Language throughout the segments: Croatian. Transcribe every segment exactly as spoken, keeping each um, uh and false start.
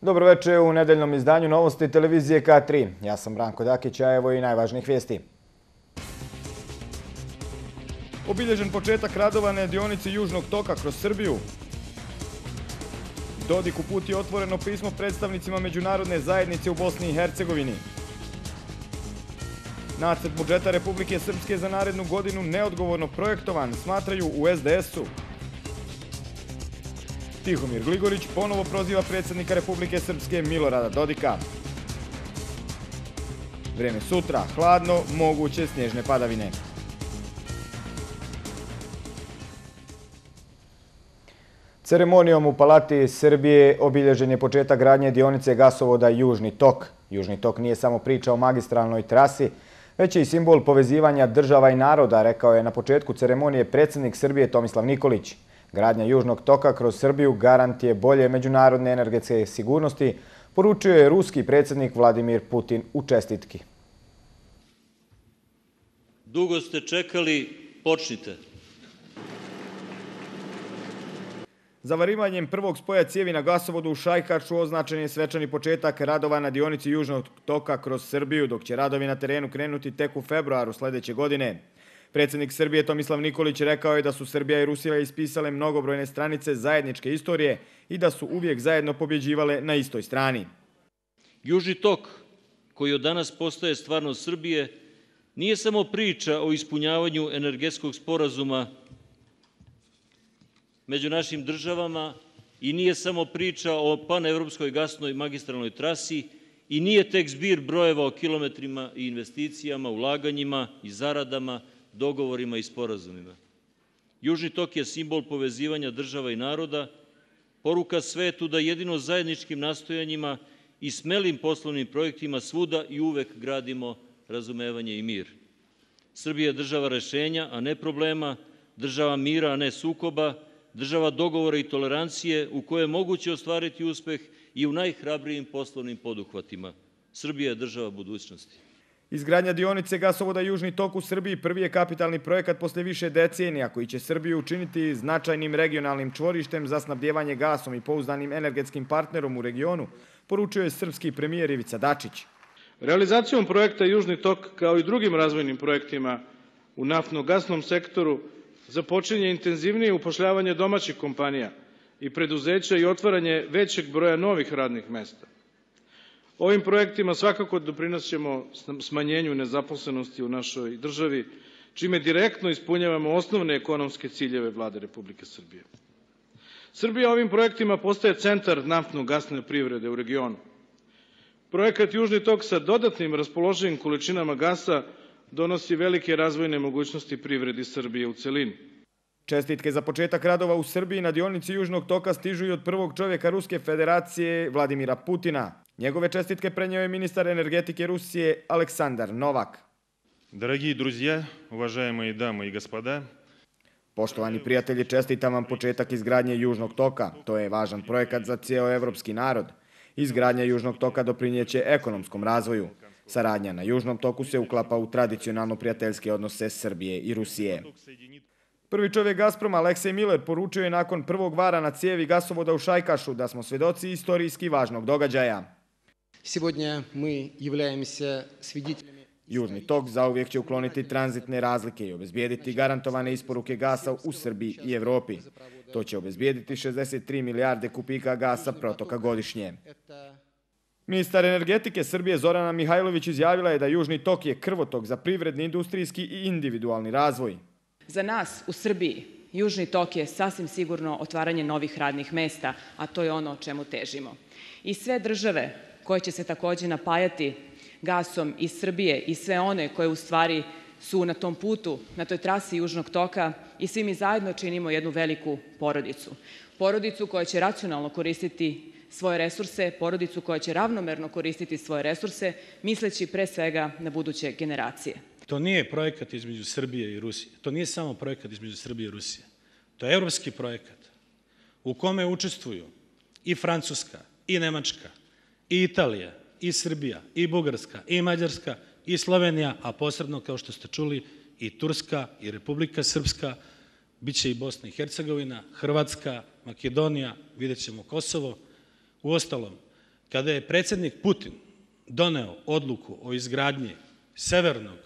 Dobro večer u nedeljnom izdanju novosti televizije K tri. Ja sam Branko Dakić, a evo i najvažnijih vijesti. Obilježen početak radova na dionici Južnog toka kroz Srbiju. Dodik uputio otvoreno pismo predstavnicima međunarodne zajednice u Bosni i Hercegovini. Nacrt budžeta Republike Srpske za narednu godinu neodgovorno projektovan, smatraju u S D S-u. Tihomir Gligorić ponovo proziva predsjednika Republike Srpske Milorada Dodika. Vreme sutra, hladno, moguće snježne padavine. Ceremonijom u Palati Srbije obilježen je početak gradnje dionice gasovoda Južni tok. Južni tok nije samo priča o magistralnoj trasi, već je i simbol povezivanja država i naroda, rekao je na početku ceremonije predsjednik Srbije Tomislav Nikolić. Gradnja Južnog toka kroz Srbiju garant je bolje međunarodne energetske sigurnosti, poručio je ruski predsjednik Vladimir Putin u čestitki. Dugo ste čekali, počnite. Zavarivanjem prvog spoja cijevi na gasovodu u Šajkaču označen je svečani početak radova na dionici Južnog toka kroz Srbiju, dok će radovi na terenu krenuti tek u februaru sljedeće godine. Predsjednik Srbije Tomislav Nikolić rekao je da su Srbija i Rusija ispisale mnogobrojne stranice zajedničke istorije i da su uvijek zajedno pobjeđivale na istoj strani. Južni tok, koji od danas postaje stvarnost Srbije, nije samo priča o ispunjavanju energetskog sporazuma među našim državama i nije samo priča o panevropskoj gasnoj magistralnoj trasi i nije tek zbir brojeva o kilometrima i investicijama, ulaganjima i zaradama, dogovorima i sporazumima. Južni tok je simbol povezivanja država i naroda, poruka svetu da jedino zajedničkim nastojanjima i smelim poslovnim projektima svuda i uvek gradimo razumevanje i mir. Srbija je država rešenja, a ne problema, država mira, a ne sukoba, država dogovora i tolerancije u kojoj je moguće ostvariti uspeh i u najhrabrijim poslovnim poduhvatima. Srbija je država budućnosti. Izgradnja dionice gasovoda Južni tok u Srbiji prvi je kapitalni projekat posle više decenija koji će Srbiju učiniti značajnim regionalnim čvorištem za snabdjevanje gasom i pouzdanim energetskim partnerom u regionu, poručio je srpski premijer Ivica Dačić. Realizacijom projekta Južni tok kao i drugim razvojnim projektima u naftno-gasnom sektoru započinje intenzivnije upošljavanje domaćih kompanija i preduzeća i otvaranje većeg broja novih radnih mesta. Ovim projektima svakako doprinoćemo smanjenju nezaposlenosti u našoj državi, čime direktno ispunjavamo osnovne ekonomske ciljeve Vlade Republike Srbije. Srbija ovim projektima postaje centar naftno-gasne privrede u regionu. Projekat Južni tok sa dodatnim raspoloživim količinama gasa donosi velike razvojne mogućnosti privredi Srbije u celini. Čestitke za početak radova u Srbiji na dionici Južnog toka stižu i od prvog čovjeka Ruske federacije Vladimira Putina. Njegove čestitke prenio je ministar energetike Rusije Aleksandar Novak. Dragi друзья, уважаемые дамы и господа, poštovani prijatelji, čestitam vam početak izgradnje Južnog toka. To je važan projekat za cijeo evropski narod. Izgradnja Južnog toka doprinjeće ekonomskom razvoju. Saradnja na Južnom toku se uklapa u tradicionalno prijateljske odnose Srbije i Rusije. Prvi čovjek Gazproma, Aleksej Miller, poručio je nakon prvog vara na cijevi gasovoda u Šajkašu da smo svjedoci istorijski važnog događaja. Južni tok zauvijek će ukloniti tranzitne razlike i obezbijediti garantovane isporuke gasa u Srbiji i Evropi. To će obezbijediti šezdeset tri milijarde kubika gasa protoka godišnje. Ministar energetike Srbije Zorana Mihajlović izjavila je da Južni tok je krvotok za privredni, industrijski i individualni razvoj. Za nas u Srbiji Južni tok je sasvim sigurno otvaranje novih radnih mesta, a to je ono o čemu težimo. I sve države koje će se također napajati gasom iz Srbije i sve one koje u stvari su na tom putu, na toj trasi Južnog toka i svi mi zajedno činimo jednu veliku porodicu. Porodicu koja će racionalno koristiti svoje resurse, porodicu koja će ravnomerno koristiti svoje resurse, misleći pre svega na buduće generacije. To nije projekat između Srbije i Rusije. To nije samo projekat između Srbije i Rusije. To je evropski projekat u kome učestvuju i Francuska, i Nemačka, i Italija, i Srbija, i Bugarska, i Mađarska, i Slovenija, a posebno, kao što ste čuli, i Turska, i Republika Srpska, bit će i Bosna i Hercegovina, Hrvatska, Makedonija, vidjet ćemo Kosovo. Uostalom, kada je predsjednik Putin doneo odluku o izgradnji severnog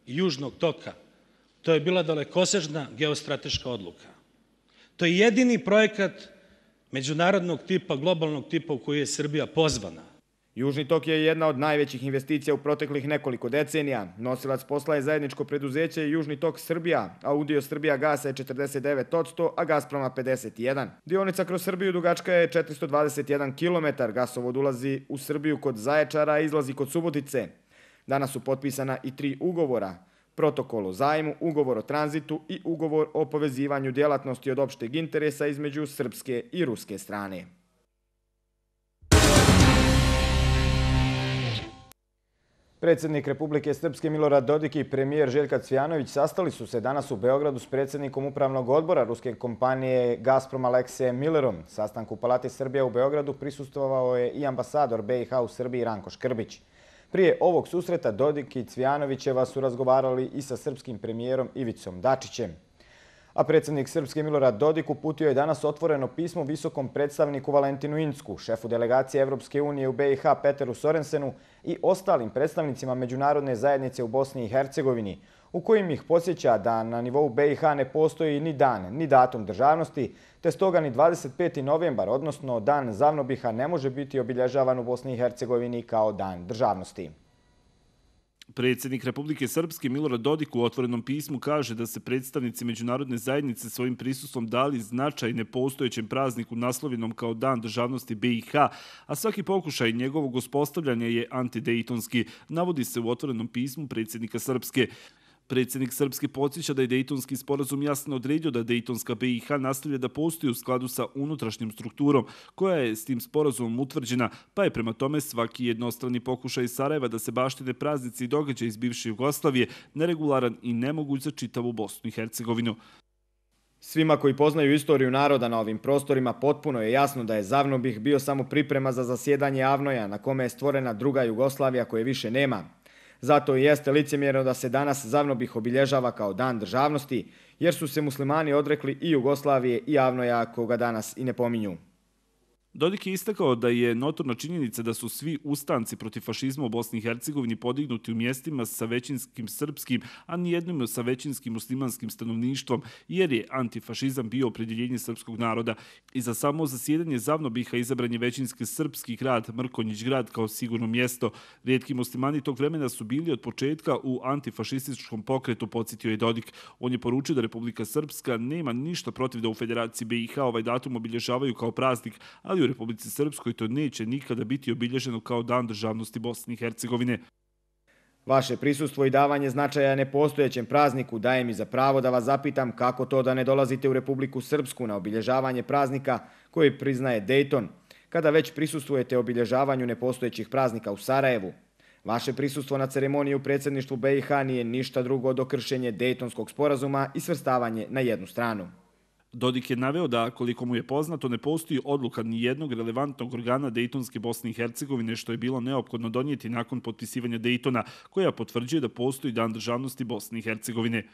i južnog toka, to je bila dalekosežna geostrateška odluka. To je jedini projekat međunarodnog tipa, globalnog tipa u koji je Srbija pozvana. Južni tok je jedna od najvećih investicija u proteklih nekoliko decenija. Nosilac posla je zajedničko preduzeće Južni tok Srbija, a udio Srbija gasa je četrdeset devet posto, a Gasproma pedeset jedan. Dionica kroz Srbiju dugačka je četiristo dvadeset jedan kilometar. Gasovod ulazi u Srbiju kod Zaječara, a izlazi kod Subotice. Danas su potpisana i tri ugovora. Protokol o zajmu, ugovor o tranzitu i ugovor o povezivanju djelatnosti od opšteg interesa između srpske i ruske strane. Predsjednik Republike Srpske Milorad Dodik i premijer Željko Cvijanović sastali su se danas u Beogradu s predsjednikom upravnog odbora ruske kompanije Gazprom Aleksejem Millerom. Sastanku u Palati Srbija u Beogradu prisustvovao je i ambasador B i H u Srbiji Ranko Škrbić. Prije ovog susreta Dodik i Cvijanovićeva su razgovarali i sa srpskim premijerom Ivicom Dačićem. A predsjednik Srpske Milorad Dodik uputio je danas otvoreno pismo visokom predstavniku Valentinu Incku, šefu delegacije Evropske unije u B i H Peteru Sorensenu i ostalim predstavnicima međunarodne zajednice u Bosni i Hercegovini, u kojim ih podsjeća da na nivou B i H ne postoji ni dan, ni datum državnosti, te stoga ni dvadeset peti novembar, odnosno dan Zavnobiha, ne može biti obilježavan u Bosni i Hercegovini kao dan državnosti. Predsjednik Republike Srpske Milorad Dodik u otvorenom pismu kaže da se predstavnici međunarodne zajednice svojim prisustvom dali značaj nepostojećem prazniku naslovljenom kao Dan državnosti B i H, a svaki pokušaj njegovog uspostavljanja je antidejtonski, navodi se u otvorenom pismu predsjednika Srpske. Predsjednik Srpske podsjeća da je Dejtonski sporazum jasno odredio da Dejtonska B i H nastavlja da postoji u skladu sa unutrašnjom strukturom koja je s tim sporazumom utvrđena, pa je prema tome svaki jednostrani pokušaj Sarajeva da se baštine praznici i događaj iz bivše Jugoslavije neregularan i nemoguć za čitavu Bosnu i Hercegovinu. Svima koji poznaju istoriju naroda na ovim prostorima potpuno je jasno da je Zavnobih bio samo priprema za zasjedanje Avnoja na kome je stvorena druga Jugoslavija koje više nema. Zato i jeste licemjerno da se danas Zavnobih obilježava kao dan državnosti, jer su se muslimani odrekli i Jugoslavije i Avnoja koga danas i ne pominju. Dodik je istakao da je notorna činjenica da su svi ustanci protiv fašizma u Bosni i Hercegovini podignuti u mjestima sa većinskim srpskim, a nijednom sa većinskim muslimanskim stanovništvom, jer je antifašizam bio opredjeljenje srpskog naroda. I za samo zasjedanje Zavnobiha izabran je većinski srpski grad Mrkonjić grad kao sigurno mjesto. Rijetki muslimani tog vremena su bili od početka u antifašističkom pokretu, podsjetio je Dodik. On je poručio da Republika Srpska nema ništa protiv da u Federaciji B i H ovaj datum obilježavaju kao praznik, ali u Republici Srpskoj to neće nikada biti obilježeno kao dan državnosti Bosne i Hercegovine. Vaše prisustvo i davanje značaja nepostojećem prazniku daje mi za pravo da vas zapitam kako to da ne dolazite u Republiku Srpsku na obilježavanje praznika koji priznaje Dejton, kada već prisustvujete obilježavanju nepostojećih praznika u Sarajevu. Vaše prisustvo na ceremoniji u predsjedništvu B i H nije ništa drugo do kršenje Dejtonskog sporazuma i svrstavanje na jednu stranu. Dodik je naveo da, koliko mu je poznato, ne postoji odluka ni jednog relevantnog organa Dejtonske Bosne i Hercegovine, što je bilo neophodno donijeti nakon potpisivanja Dejtona, koja potvrđuje da postoji dan državnosti Bosne i Hercegovine.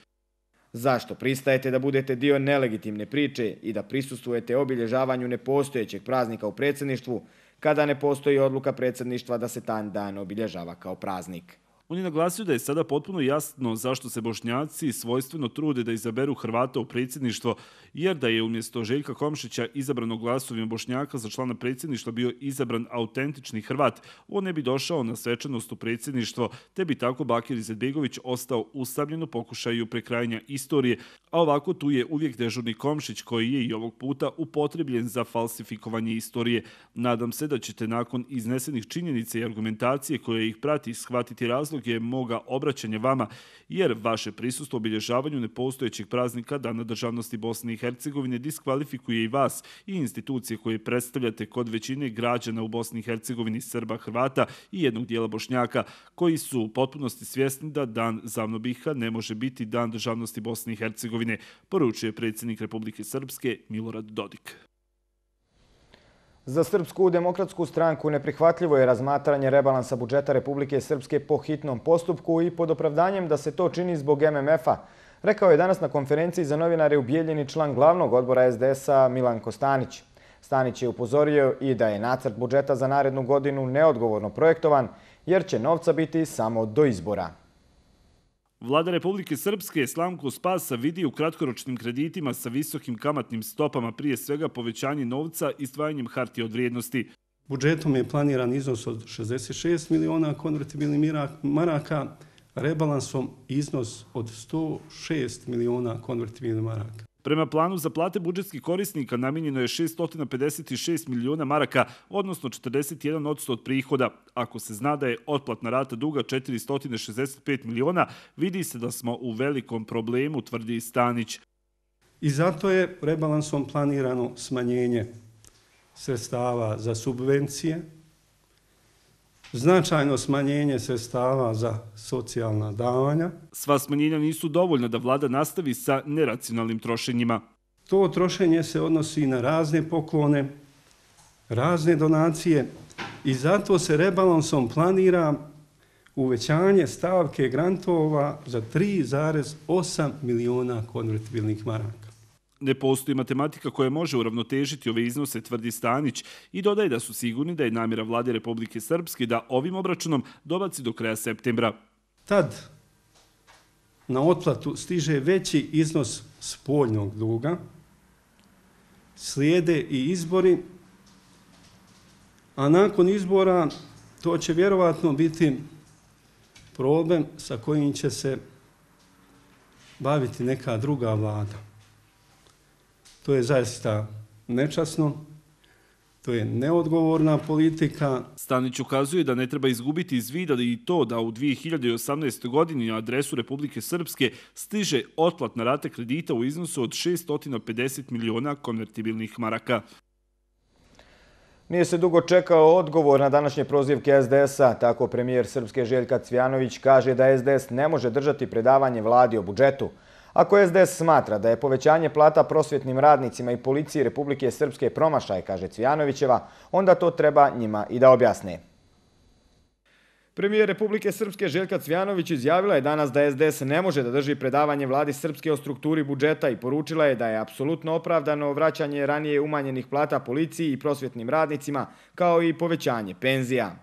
Zašto pristajete da budete dio nelegitimne priče i da prisustvujete obilježavanju nepostojećeg praznika u predsjedništvu, kada ne postoji odluka predsjedništva da se taj dan obilježava kao praznik? On je naglasio da je sada potpuno jasno zašto se Bošnjaci svojstveno trude da izaberu Hrvata u predsjedništvo, jer da je umjesto Željka Komšića izabranog glasovima Bošnjaka za člana predsjedništva bio izabran autentični Hrvat, on ne bi došao na svečanost u predsjedništvo, te bi tako Bakir Izetbegović ostao usamljen u pokušaju prekrajanja istorije, a ovako tu je uvijek dežurni Komšić koji je i ovog puta upotrebljen za falsifikovanje istorije. Nadam se da ćete nakon iznesenih činjenica i argumentacije koje ih prati shvatiti razlog je moga obraćanja vama, jer vaše prisustvo obilježavanju nepostojećeg praznika Dana državnosti Bosne i Hercegovine diskvalifikuje i vas i institucije koje predstavljate kod većine građana u Bosni i Hercegovini, Srba, Hrvata i jednog dijela Bošnjaka, koji su u potpunosti svjesni da Dan Zavnobiha ne može biti Dan državnosti Bosne i Hercegovine, poručuje predsjednik Republike Srpske Milorad Dodik. Za Srpsku demokratsku stranku neprihvatljivo je razmatranje rebalansa budžeta Republike Srpske po hitnom postupku i pod opravdanjem da se to čini zbog M M F-a, rekao je danas na konferenciji za novinare u Bijeljini član glavnog odbora S D S-a Milan Kostanić. Stanić je upozorio i da je nacrt budžeta za narednu godinu neodgovorno projektovan, jer će novca biti samo do izbora. Vlada Republike Srpske slamku spasa vidi u kratkoročnim kreditima sa visokim kamatnim stopama, prije svega povećanje novca i izdvajanjem hartija od vrijednosti. Budžetom je planiran iznos od šezdeset šest miliona konvertibilnih maraka, rebalansom iznos od sto šest miliona konvertibilnih maraka. Prema planu za plate budžetskih korisnika namijenjeno je šessto pedeset šest miliona maraka, odnosno četrdeset jedan posto od prihoda. Ako se zna da je otplatna rata duga četiristo šezdeset pet miliona, vidi se da smo u velikom problemu, tvrdi Stanić. I zato je rebalansom planirano smanjenje sredstava za subvencije, značajno smanjenje sredstava za socijalna davanja. Sva smanjenja nisu dovoljna da vlada nastavi sa neracionalnim trošenjima. To trošenje se odnosi na razne poklone, razne donacije i zato se rebalansom planira uvećanje stavke grantova za tri zarez osam miliona konvertibilnih maraka. Ne postoji matematika koja može uravnotežiti ove iznose, tvrdi Stanić, i dodaje da su sigurni da je namjera Vlade Republike Srpske da ovim obračunom dobaci do kraja septembra. Tad na otplatu stiže veći iznos spoljnog duga, slijede i izbori, a nakon izbora to će vjerovatno biti problem sa kojim će se baviti neka druga vlada. To je zaista nečasno, to je neodgovorna politika. Stanić ukazuje da ne treba izgubiti iz vida i to da u dvije hiljade osamnaestoj. godini na adresu Republike Srpske stiže otplatna rata kredita u iznosu od šessto pedeset miliona konvertibilnih maraka. Nije se dugo čekao odgovor na današnje prozivke es de es-a. Tako premijer Srpske Željka Cvijanović kaže da es de es ne može držati predavanje vladi o budžetu. Ako es de es smatra da je povećanje plata prosvjetnim radnicima i policiji Republike Srpske promašaj, kaže Cvijanovićeva, onda to treba njima i da objasne. Premijer Republike Srpske Željka Cvijanović izjavila je danas da es de es ne može da drži predavanje vladi Srpske o strukturi budžeta i poručila je da je apsolutno opravdano vraćanje ranije umanjenih plata policiji i prosvjetnim radnicima, kao i povećanje penzija.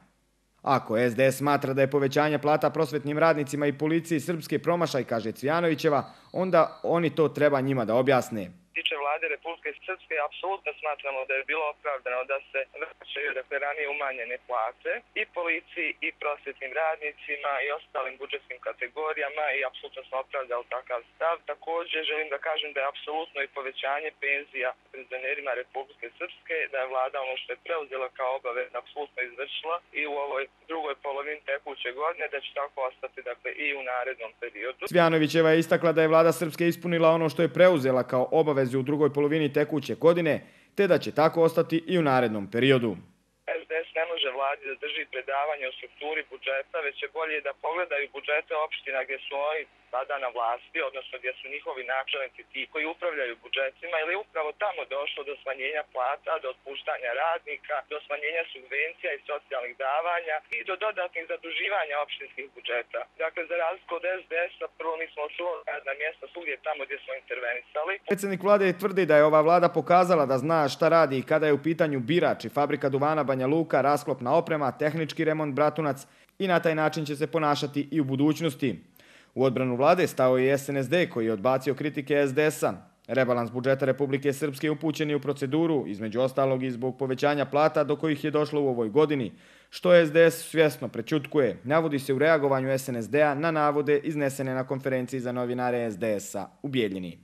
Ako es de es smatra da je povećanje plata prosvetnim radnicima i policiji Srpske promašaj, kaže Cvijanovićeva, onda oni to treba njima da objasne. Tiče vlade Republike Srpske, apsolutno smatramo da je bilo opravdano da se vraćaju dakle ranije umanjene plate i policiji i prosvetnim radnicima i ostalim budžetskim kategorijama i apsolutno smo opravdali takav stav. Također želim da kažem da je apsolutno i povećanje penzija penzionerima Republike Srpske, da je vlada ono što je preuzela kao obavez apsolutno izvršila i u ovoj drugoj polovini tekuće godine, da će tako ostati dakle i u narednom periodu. Cvijanovićeva je istakla da je vlada Srpske ispunila ono što je preuzela kao obavez u drugoj polovini tekuće godine, te da će tako ostati i u narednom periodu. es de es ne može vladi da drži predavanje o strukturi budžeta, već je bolje da pogledaju budžete opština gdje su oni sada na vlasti, odnosno gdje su njihovi načelnici ti koji upravljaju budžetima, ili je upravo tamo došlo do smanjenja plata, do otpuštanja radnika, do smanjenja subvencija i socijalnih davanja i do dodatnih zaduživanja opštinskih budžeta. Dakle, za razliku od es de es-a, prvo mi smo očuvali radna mjesta svugdje tamo gdje smo intervenisali. Predsjednik vlade tvrdi da je ova vlada pokazala da zna šta radi i kada je u pitanju Birač i fabrika duvana Banja Luka, rasklopna oprema, tehnički remont Bratunac i na taj način će se ponašati i u budućnosti. U odbranu vlade stao je i es en es de koji je odbacio kritike es de es-a. Rebalans budžeta Republike Srpske upućen je u proceduru, između ostalog i zbog povećanja plata do kojih je došlo u ovoj godini, što es de es svjesno prećutkuje. Navodi se u reagovanju es en es de-a na navode iznesene na konferenciji za novinare es de es-a u Bijeljini.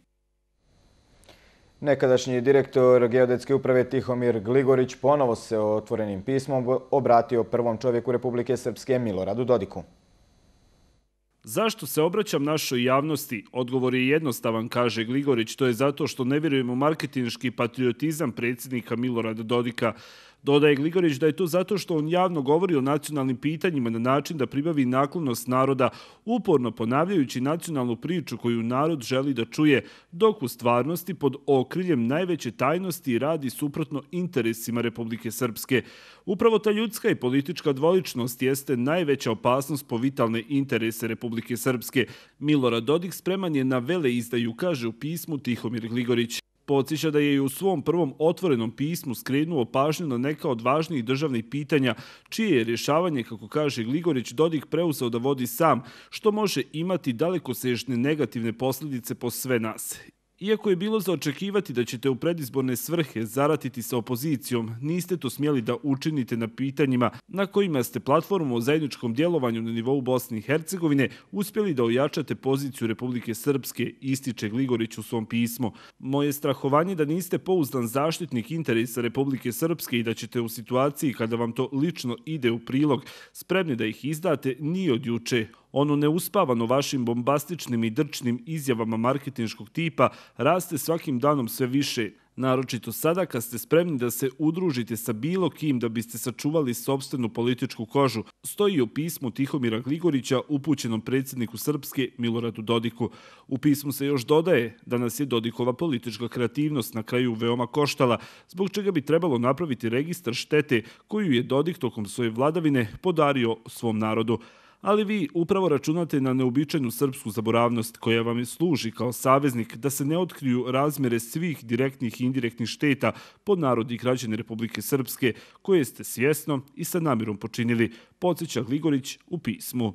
Nekadašnji direktor Geodetske uprave Tihomir Gligorić ponovo se otvorenim pismom obratio prvom čovjeku Republike Srpske Miloradu Dodiku. Zašto se obraćam našoj javnosti? Odgovor je jednostavan, kaže Gligorić, to je zato što ne vjerujem u marketinški patriotizam predsjednika Milorada Dodika. Dodaje Gligorić da je to zato što on javno govori o nacionalnim pitanjima na način da pribavi naklonost naroda, uporno ponavljajući nacionalnu priču koju narod želi da čuje, dok u stvarnosti pod okriljem najveće tajnosti radi suprotno interesima Republike Srpske. Upravo ta ljudska i politička dvoličnost jeste najveća opasnost po vitalne interese Republike Srpske. Milorad Dodik spreman je na veleizdaju, kaže u pismu Tihomir Gligorić. Podsjeća da je i u svom prvom otvorenom pismu skrenuo pažnju na neka od važnijih državnih pitanja, čije je rješavanje, kako kaže Gligorić, Dodik preuzeo da vodi sam, što može imati dalekosežne negativne posljedice po sve nas. Iako je bilo za očekivati da ćete u predizborne svrhe zaratiti sa opozicijom, niste to smjeli da učinite na pitanjima na kojima ste platformu o zajedničkom djelovanju na nivou Bosne i Hercegovine uspjeli da ojačate poziciju Republike Srpske, ističe Gligorić u svom pismu. Moje strahovanje da niste pouzdan zaštitnik interesa Republike Srpske i da ćete u situaciji kada vam to lično ide u prilog spremni da ih izdate nije od juče. Ono neuspavano vašim bombastičnim i drčnim izjavama marketinškog tipa raste svakim danom sve više, naročito sada kad ste spremni da se udružite sa bilo kim da biste sačuvali sopstvenu političku kožu, stoji u pismu Tihomira Gligorića upućenom predsjedniku Srpske Miloradu Dodiku. U pismu se još dodaje da nas je Dodikova politička kreativnost na kraju veoma koštala, zbog čega bi trebalo napraviti registar štete koju je Dodik tokom svoje vladavine podario svom narodu. Ali vi upravo računate na neobičajnu srpsku zaboravnost koja vam služi kao saveznik da se ne otkriju razmjere svih direktnih i indirektnih šteta pod narod i građane Republike Srpske koje ste svjesno i sa namjerom počinili, podsjeća Gligorić u pismu.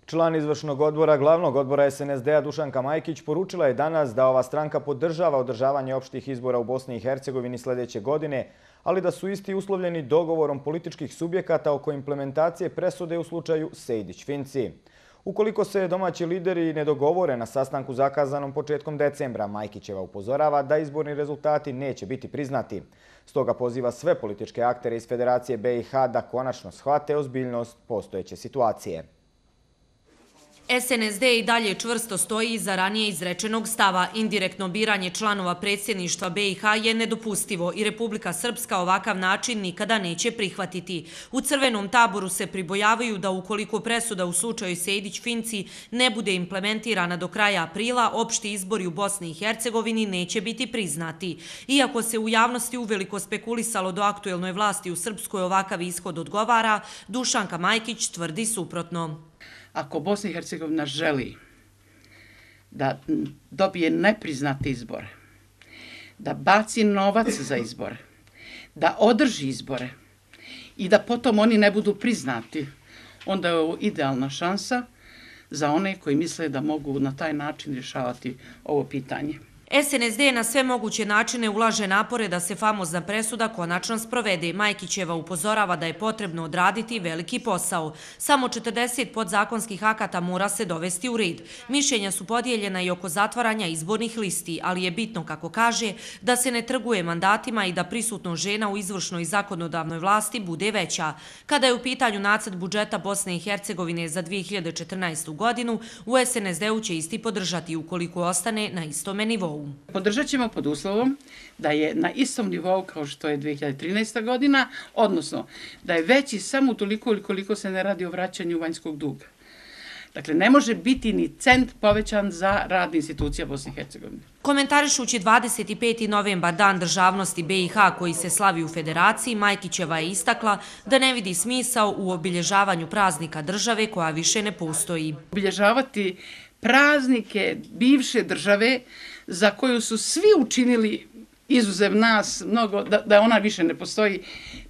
Član izvršnog odbora glavnog odbora es en es de a Dušanka Majkić poručila je danas da ova stranka podržava održavanje opštih izbora u Bosni i Hercegovini sljedeće godine, ali da su isti uslovljeni dogovorom političkih subjekata oko implementacije presude u slučaju Sejdić-Finci. Ukoliko se domaći lideri ne dogovore na sastanku zakazanom početkom decembra, Majkićeva upozorava da izborni rezultati neće biti priznati. Stoga poziva sve političke aktere iz Federacije be i ha da konačno shvate ozbiljnost postojeće situacije. es en es de i dalje čvrsto stoji iza ranije izrečenog stava. Indirektno biranje članova predsjedništva be i ha je nedopustivo i Republika Srpska ovakav način nikada neće prihvatiti. U crvenom taboru se pribojavaju da ukoliko presuda u slučaju Sejdić-Finci ne bude implementirana do kraja aprila, opšti izbori u Bosni i Hercegovini neće biti priznati. Iako se u javnosti uveliko spekulisalo do aktuelnoj vlasti u Srpskoj ovakav ishod odgovara, Dušanka Majkić tvrdi suprotno. Ako Bosna i Hercegovina želi da dobije nepriznate izbore, da baci novac za izbore, da održi izbore i da potom oni ne budu priznati, onda je ovo idealna šansa za one koji misle da mogu na taj način rješavati ovo pitanje. es en es de na sve moguće načine ulaže napore da se famozna presuda konačno sprovede. Majkićeva upozorava da je potrebno odraditi veliki posao. Samo četrdeset podzakonskih akata mora se dovesti u red. Mišljenja su podijeljena i oko zatvaranja izbornih listi, ali je bitno, kako kaže, da se ne trguje mandatima i da prisutnost žena u izvršnoj i zakonodavnoj vlasti bude veća. Kada je u pitanju nacrt budžeta Bosne i Hercegovine za dvije hiljade četrnaestu. godinu, u es en es de-u će isti podržati ukoliko ostane na istome nivou. Podržat ćemo pod uslovom da je na istom nivou kao što je dvije hiljade trinaesta. godina, odnosno da je veći samo toliko ili koliko se ne radi o vraćanju vanjskog duga. Dakle, ne može biti ni cent povećan za rad institucija Bosne i Hercegovine. Komentarišući dvadeset peti novembar, Dan državnosti be i ha koji se slavi u Federaciji, Majkićeva je istakla da ne vidi smisao u obilježavanju praznika države koja više ne postoji. Obilježavati praznike bivše države za koju su svi učinili izuzev nas mnogo, da, da ona više ne postoji,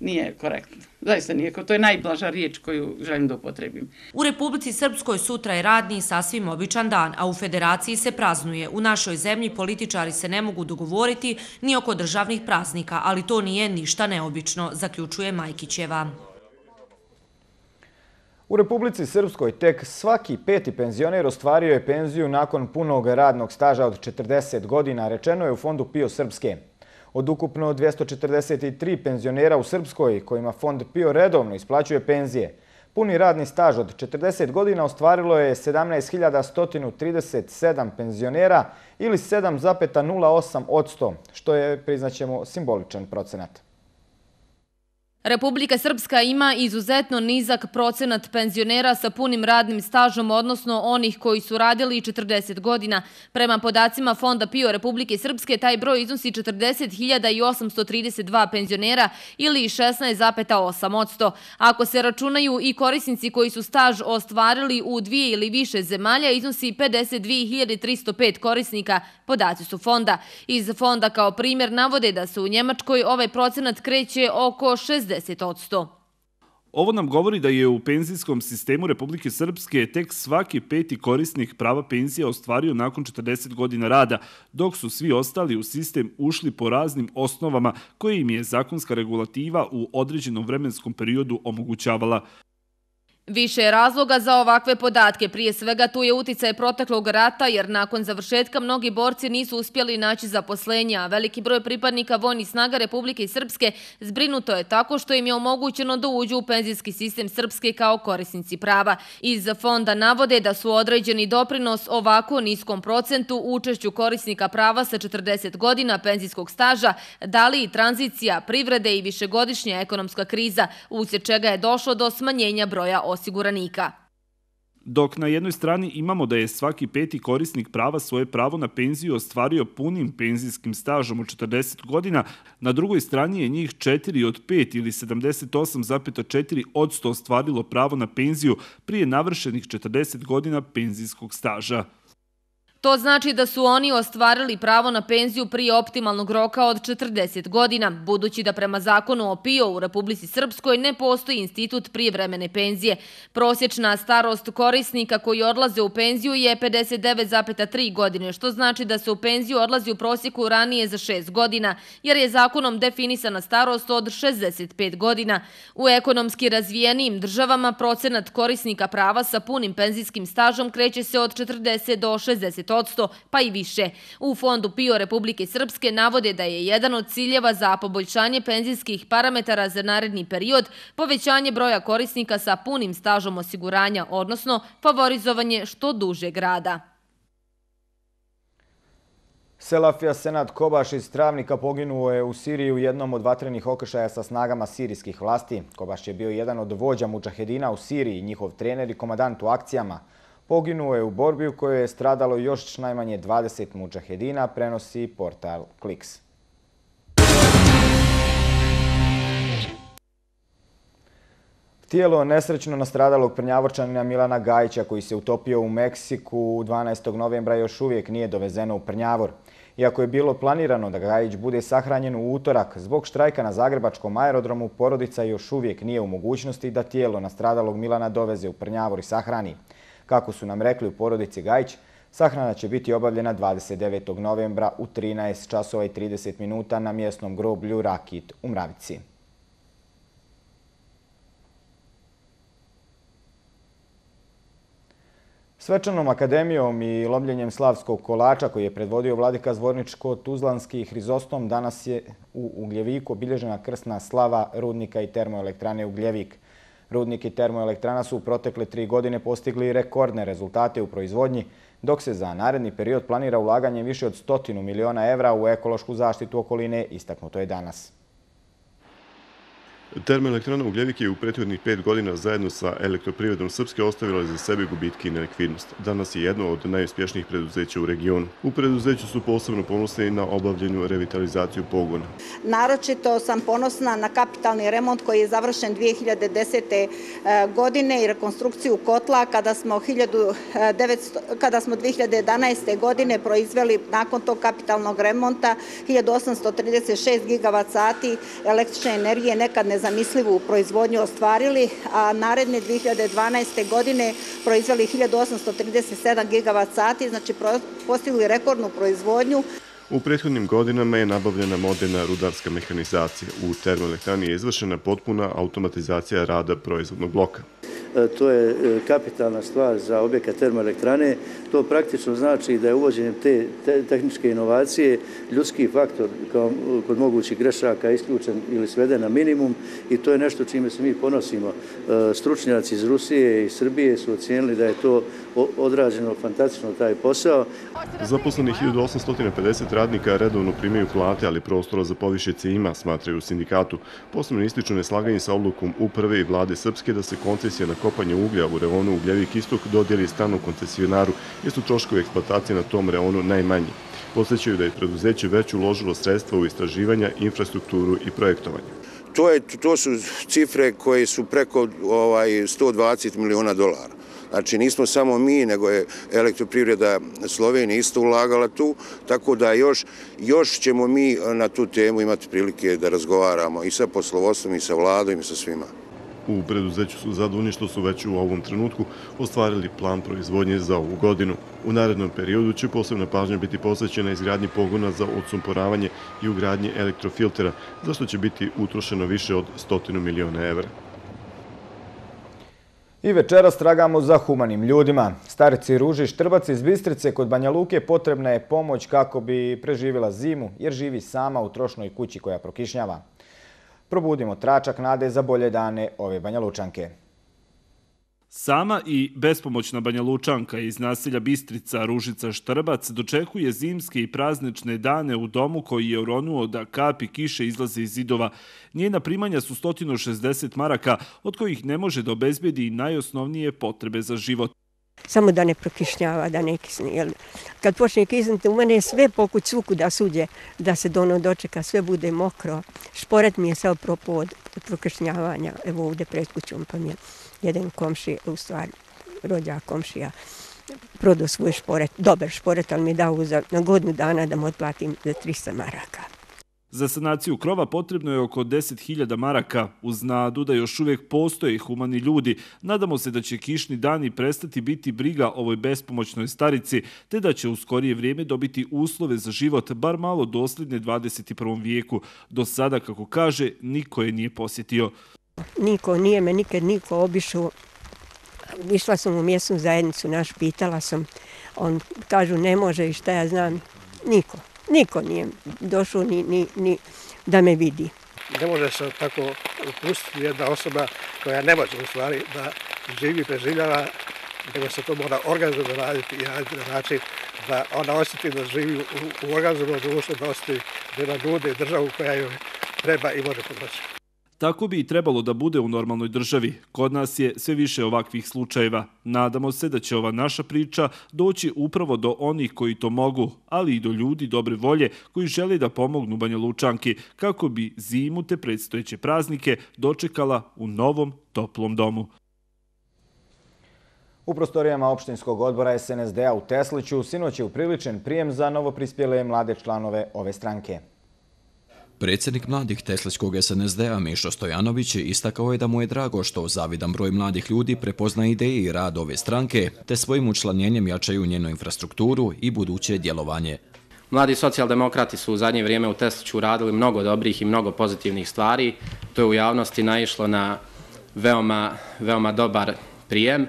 nije korektno. Zaista nije, to je najblaža riječ koju želim da upotrebim. U Republici Srpskoj sutra je radni sasvim običan dan, a u Federaciji se praznuje. U našoj zemlji političari se ne mogu dogovoriti ni oko državnih praznika, ali to nije ništa neobično, zaključuje Majkićeva. U Republici Srpskoj tek svaki peti penzioner ostvario je penziju nakon punog radnog staža od četrdeset godina, rečeno je u Fondu PIO Srpske. Od ukupno dvjesto četrdeset tri penzionera u Srpskoj, kojima Fond PIO redovno isplaćuje penzije, puni radni staž od četrdeset godina ostvarilo je sedamnaest hiljada sto trideset sedam penzionera ili sedam zarez nula osam posto, što je, priznaćemo, simboličan procenat. Republika Srpska ima izuzetno nizak procenat penzionera sa punim radnim stažom, odnosno onih koji su radili četrdeset godina. Prema podacima Fonda PIO Republike Srpske, taj broj iznosi četrdeset hiljada osamsto trideset dva penzionera ili šesnaest zarez osam posto. Ako se računaju i korisnici koji su staž ostvarili u dvije ili više zemalja, iznosi pedeset dvije hiljade tristo pet korisnika, podaci su Fonda. Iz Fonda kao primjer navode da se u Njemačkoj ovaj procenat kreće oko šezdeset posto. Ovo nam govori da je u penzijskom sistemu Republike Srpske tek svaki peti korisnik prava penzija ostvario nakon četrdeset godina rada, dok su svi ostali u sistem ušli po raznim osnovama koje im je zakonska regulativa u određenom vremenskom periodu omogućavala. Više je razloga za ovakve podatke. Prije svega tu je uticaj proteklog rata, jer nakon završetka mnogi borci nisu uspjeli naći zaposlenje, a veliki broj pripadnika vojnih snaga Republike Srpske zbrinuto je tako što im je omogućeno da uđu u penzijski sistem Srpske kao korisnici prava. Iz Fonda navode da su određeni doprinos ovako niskom procentu učešću korisnika prava sa četrdeset godina penzijskog staža dali i tranzicija privrede i višegodišnja ekonomska kriza, uslijed čega je došlo do smanjenja broja osiguranika. Dok na jednoj strani imamo da je svaki peti korisnik prava svoje pravo na penziju ostvario punim penzijskim stažom od četrdeset godina, na drugoj strani je njih četiri od pet ili sedamdeset osam zarez četiri posto ostvarilo pravo na penziju prije navršenih četrdeset godina penzijskog staža. To znači da su oni ostvarili pravo na penziju prije optimalnog roka od četrdeset godina, budući da prema zakonu o PIO u Republici Srpskoj ne postoji institut prijevremene penzije. Prosječna starost korisnika koji odlaze u penziju je pedeset devet zarez tri godine, što znači da se u penziju odlazi u prosjeku ranije za šest godina, jer je zakonom definisana starost od šezdeset pet godina. U ekonomski razvijenijim državama procenat korisnika prava sa punim penzijskim stažom kreće se od četrdeset do šezdeset posto, pa i više. U Fondu PIO Republike Srpske navode da je jedan od ciljeva za poboljšanje penzijskih parametara za naredni period povećanje broja korisnika sa punim stažom osiguranja, odnosno favorizovanje što dužeg rada. Selafija Senad Kobaš iz Travnika poginuo je u Siriji u jednom od vatrenih okršaja sa snagama sirijskih vlasti. Kobaš je bio jedan od vođa mudžahedina u Siriji, njihov trener i komadant u akcijama. Poginuo je u borbi u kojoj je stradalo još najmanje dvadeset mudžahedina, prenosi portal Kliks. Tijelo nesrećno nastradalog Prnjavorčanina Milana Gajića, koji se utopio u Meksiku dvanaestog novembra, još uvijek nije dovezeno u Prnjavor. Iako je bilo planirano da Gajić bude sahranjen u utorak, zbog štrajka na zagrebačkom aerodromu, porodica još uvijek nije u mogućnosti da tijelo nastradalog Milana doveze u Prnjavor i sahrani. Kako su nam rekli u porodici Gajić, sahrana će biti obavljena dvadeset devetog novembra u trinaest časova i trideset minuta na mjesnom groblju Rakit u Mravici. Svečanom akademijom i lomljenjem slavskog kolača koji je predvodio vladika Zvorničko-Tuzlanski Hrizostom, danas je u Ugljeviku obilježena krsna slava rudnika i termoelektrane Ugljevik. Rudnik i termoelektrana su u protekle tri godine postigli rekordne rezultate u proizvodnji, dok se za naredni period planira ulaganje više od stotinu miliona evra u ekološku zaštitu okoline, istaknuto je danas. Termoelektrana Ugljevik je u prethodnih pet godina zajedno sa Elektroprivredom Srpske ostavila za sebe gubitke i nelikvidnost. Danas je jedno od najuspješnijih preduzeća u regionu. U preduzeću su posebno ponosni na obavljanju revitalizaciju pogona. Naročito sam ponosna na kapitalni remont koji je završen dvije hiljade desete. godine i rekonstrukciju kotla kada smo, kada smo dvije hiljade jedanaeste. godine proizveli nakon tog kapitalnog remonta hiljadu osamsto trideset šest gigavat sati električne energije, nekad ne nezamislivu proizvodnju ostvarili, a naredne dvije hiljade dvanaeste. godine proizveli hiljadu osamsto trideset sedam gigavat sati, znači postigli rekordnu proizvodnju. U prethodnim godinama je nabavljena moderna rudarska mehanizacija. U termoelektrani je izvršena potpuna automatizacija rada proizvodnog bloka. to je kapitalna stvar za objekat termoelektrane. To praktično znači da je uvođenjem te tehničke inovacije ljudski faktor kao kod mogućih grešaka isključen ili sveden na minimum i to je nešto čime se mi ponosimo. Stručnjaci iz Rusije i Srbije su ocijenili da je to odrađeno fantastično taj posao. Zaposlenih hiljadu osamsto pedeset radnika redovno primaju plate, ali prostora za povišice ima, smatraju u sindikatu. Posebno ističu neslaganje sa odlukom uprave i vlade Srpske da se koncesija na kopanje uglja u reonu Ugljevik Istok dodijeli stranom koncesionaru, jer su troškovi eksploatacije na tom reonu najmanji. Podsjećaju da je preduzeće već uložilo sredstva u istraživanja, infrastrukturu i projektovanje. To, je, to su cifre koje su preko ovaj, sto dvadeset miliona dolara. Znači nismo samo mi, nego je Elektroprivreda Slovenije isto ulagala tu, tako da još, još ćemo mi na tu temu imati prilike da razgovaramo i sa poslovodstvom, i sa vladom, i sa svima. U preduzeću su zadovoljni što su već u ovom trenutku ostvarili plan proizvodnje za ovu godinu. U narednom periodu će posebna pažnja biti posvećena izgradnji pogona za odsumporavanje i ugradnji elektrofiltera, za što će biti utrošeno više od stotinu miliona evra. I večeras tragamo za humanim ljudima. Starici Ruži Štrbac iz Bistrice kod Banja Luke potrebna je pomoć kako bi preživjela zimu, jer živi sama u trošnoj kući koja prokišnjava. Probudimo tračak nade za bolje dane ove Banja Lučanke. Sama i bespomoćna Banja Lučanka iz naselja Bistrica Ružica Štrbac dočekuje zimske i praznične dane u domu koji je oronuo da kapi kiše izlaze iz zidova. Njena primanja su sto šezdeset maraka, od kojih ne može da obezbedi i najosnovnije potrebe za život. Samo da ne prokišnjava, da ne kisne. Kad počne kisniti, u mene je sve pokuć svuku da suđe, da se dono dočeka, sve bude mokro. Šporet mi je sao propao od prokišnjavanja, evo ovdje pred kućom, pa mi je jedan komšija, u stvari rođak komšija, prodao svoj šporet, dobar šporet, ali mi je dao za, na godinu dana da mu otplatim za trista maraka. Za sanaciju krova potrebno je oko deset hiljada maraka. Uz nadu da još uvijek postoje humani ljudi, nadamo se da će kišni dani prestati biti briga ovoj bespomoćnoj starici, te da će u skorije vrijeme dobiti uslove za život, bar malo dosljedne dvadeset prvom vijeku. Do sada, kako kaže, niko je nije posjetio. Niko, nije me nikad niko obišao. Išla sam u mjesnu zajednicu naš, pitala sam, on kažu ne može i šta ja znam, niko. Niko nije došao ni, ni, ni da me vidi. Ne može se tako upustiti jedna osoba koja ne može u stvari da živi, preživljava, nego se to mora organizovano raditi i raditi na način da ona osjeti da živi u, u organizovanom društvu, da osjeti da ima ljude i državu koja joj treba i može pomoći. Tako bi i trebalo da bude u normalnoj državi. Kod nas je sve više ovakvih slučajeva. Nadamo se da će ova naša priča doći upravo do onih koji to mogu, ali i do ljudi dobre volje koji žele da pomognu Banja Lučanki kako bi zimu te predstojeće praznike dočekala u novom toplom domu. U prostorijama opštinskog odbora es en es de a u Tesliću sinoć je upriličen prijem za novoprispjele mlade članove ove stranke. Predsjednik mladih Teslićkog es en es de a Mišo Stojanović istakao je da mu je drago što zavidan broj mladih ljudi prepozna ideje i rad ove stranke, te svojim učlanjenjem jačaju njenu infrastrukturu i buduće djelovanje. Mladi socijaldemokrati su u zadnje vrijeme u Tesliću radili mnogo dobrih i mnogo pozitivnih stvari. To je u javnosti naišlo na veoma, veoma dobar prijem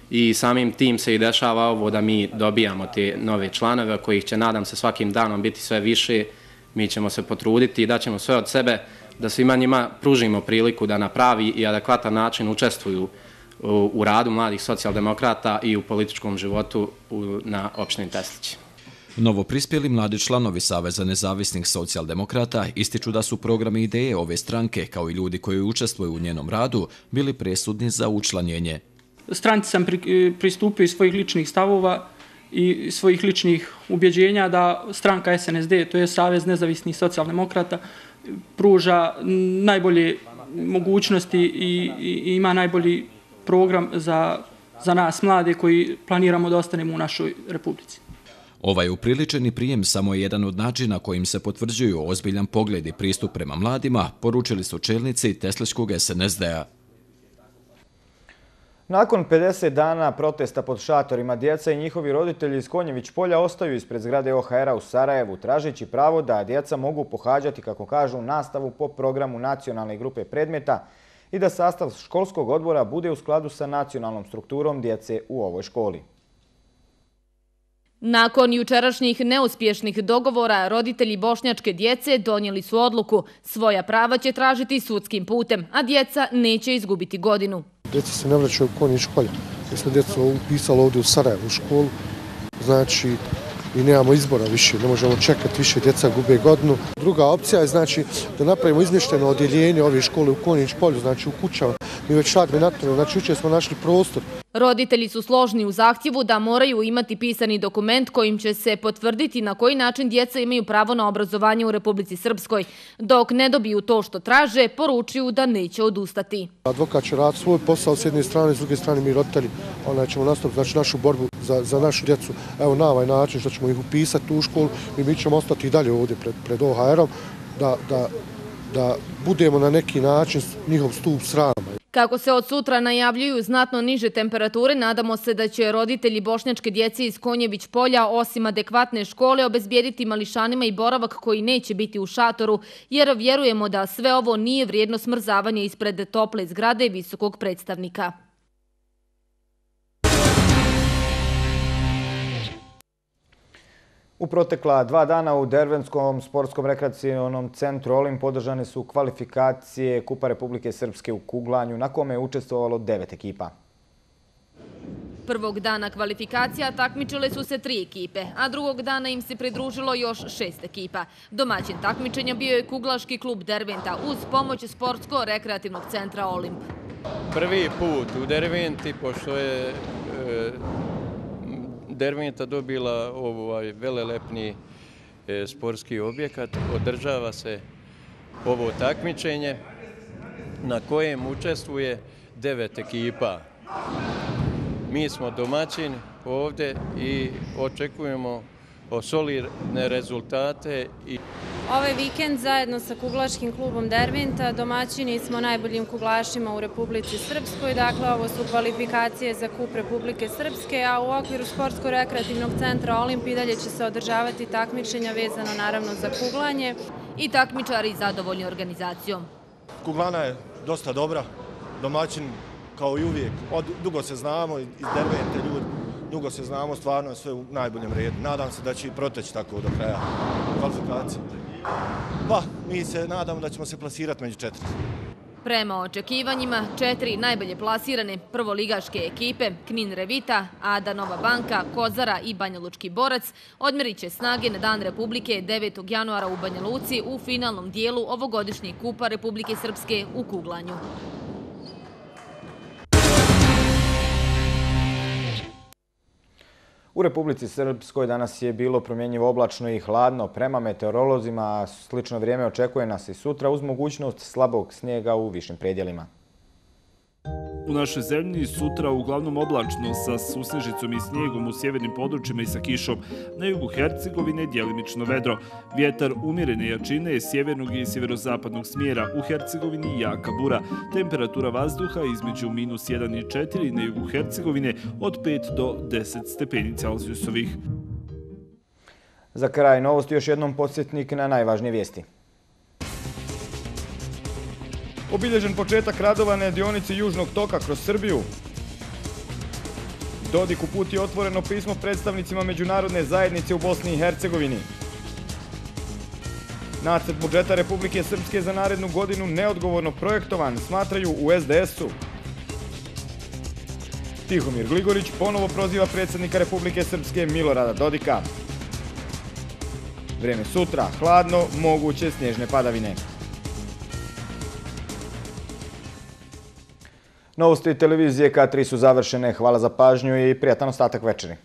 i samim tim se i dešava ovo da mi dobijamo te nove članove, kojih će, nadam se, svakim danom biti sve više. Mi ćemo se potruditi i daćemo sve od sebe da svima njima pružimo priliku da na pravi i adekvatan način učestvuju u, u radu mladih socijaldemokrata i u političkom životu u, na opštini Teslić. Novoprispjeli mladi članovi Saveza nezavisnih socijaldemokrata ističu da su programi ideje ove stranke, kao i ljudi koji učestvuju u njenom radu, bili presudni za učlanjenje. Stranci sam pri, pristupio iz svojih ličnih stavova i svojih ličnih ubjeđenja da stranka es en es de, to je Savez nezavisnih socijaldemokrata, pruža najbolje mogućnosti i, i ima najbolji program za, za nas mlade koji planiramo da ostanemo u našoj republici. Ovaj upriličeni prijem samo je jedan od načina kojim se potvrđuju ozbiljan pogled i pristup prema mladima, poručili su čelnici Teslićkog es en es de a. Nakon pedeset dana protesta pod šatorima, djeca i njihovi roditelji iz Konjević polja ostaju ispred zgrade o ha er a u Sarajevu, tražeći pravo da djeca mogu pohađati, kako kažu, nastavu po programu nacionalne grupe predmeta i da sastav školskog odbora bude u skladu sa nacionalnom strukturom djece u ovoj školi. Nakon jučerašnjih neuspješnih dogovora, roditelji bošnjačke djece donijeli su odluku. Svoja prava će tražiti sudskim putem, a djeca neće izgubiti godinu. Djeca se ne vraćaju u Konjić polje. Mi smo djecu upisali ovdje u Sarajevu u školu, znači i nemamo izbora više, ne možemo čekati, više djeca gube godinu. Druga opcija je znači da napravimo izmješteno odjeljenje ove škole u Konjić polju, znači u kućama. Mi već radimo na tome, znači jučer smo našli prostor. Roditelji su složni u zahtjevu da moraju imati pisani dokument kojim će se potvrditi na koji način djeca imaju pravo na obrazovanje u Republici Srpskoj. Dok ne dobiju to što traže, poručuju da neće odustati. Advokat će raditi svoj posao s jedne strane, s druge strane mi roditelji onaj ćemo nastaviti znači, našu borbu za, za našu djecu. Evo na ovaj način što ćemo ih upisati u školu i mi ćemo ostati i dalje ovdje pred, pred O H R-om da, da, da budemo na neki način njihov stup srama. Kako se od sutra najavljuju znatno niže temperature, nadamo se da će roditelji bošnjačke djece iz Konjević polja osim adekvatne škole obezbijediti mališanima i boravak koji neće biti u šatoru, jer vjerujemo da sve ovo nije vrijedno smrzavanja ispred tople zgrade visokog predstavnika. U protekla dva dana u Dervenskom sportskom rekreacionom centru Olimp održane su kvalifikacije Kupa Republike Srpske u kuglanju, na kome je učestvovalo devet ekipa. Prvog dana kvalifikacija takmičile su se tri ekipe, a drugog dana im se pridružilo još šest ekipa. Domaćin takmičenja bio je kuglaški klub Derventa uz pomoć sportsko-rekreativnog centra Olimp. Prvi put u Derventi, pošto je Derventa dobila ovaj velelepni sportski objekat, održava se ovo takmičenje na kojem učestvuje devet ekipa. Mi smo domaćini ovdje i očekujemo solidne rezultate. Ovaj vikend zajedno sa kuglaškim klubom Derventa domaćini smo najboljim kuglašima u Republici Srpskoj. Dakle, ovo su kvalifikacije za Kup Republike Srpske, a u okviru sportsko-rekreativnog centra Olimp i dalje će se održavati takmičenja vezano naravno za kuglanje. I takmičari zadovoljni organizacijom. Kuglana je dosta dobra, domaćin kao i uvijek. Od, dugo se znamo iz Dervente ljudi. Dugo se znamo, stvarno je sve u najboljem redu. Nadam se da će i proteći tako do kraja kvalifikacije. Pa, mi se nadamo da ćemo se plasirati među četiri. Prema očekivanjima, četiri najbolje plasirane prvoligaške ekipe, Knin Revita, Ada Nova Banka, Kozara i Banja Lučki Borac, odmerit će snage na Dan Republike devetog januara u Banja Luci u finalnom dijelu ovogodišnjeg Kupa Republike Srpske u kuglanju. U Republici Srpskoj danas je bilo promjenjivo oblačno i hladno. Prema meteorolozima slično vrijeme očekuje nas i sutra uz mogućnost slabog snijega u višim predjelima. U našoj zemlji sutra uglavnom oblačno sa susnežicom i snijegom u sjevernim područjima i sa kišom. Na jugu Hercegovine djelimično vedro. Vjetar umjerene jačine sjevernog i sjeverozapadnog smjera. U Hercegovini jaka bura. Temperatura vazduha između minus jedan i četiri na jugu Hercegovine od pet do deset stepeni Celzijusovih. Za kraj novosti još jednom podsjetnik na najvažnije vijesti. Obilježen početak radova na dionici Južnog toka kroz Srbiju. Dodik uputio otvoreno pismo predstavnicima međunarodne zajednice u Bosni i Hercegovini. Nacrt budžeta Republike Srpske za narednu godinu neodgovorno projektovan, smatraju u S D S-u. Tihomir Gligorić ponovo proziva predsjednika Republike Srpske Milorada Dodika. Vrijeme sutra, hladno, moguće snježne padavine. Novosti televizije K tri su završene. Hvala za pažnju i prijatan ostatak večeri.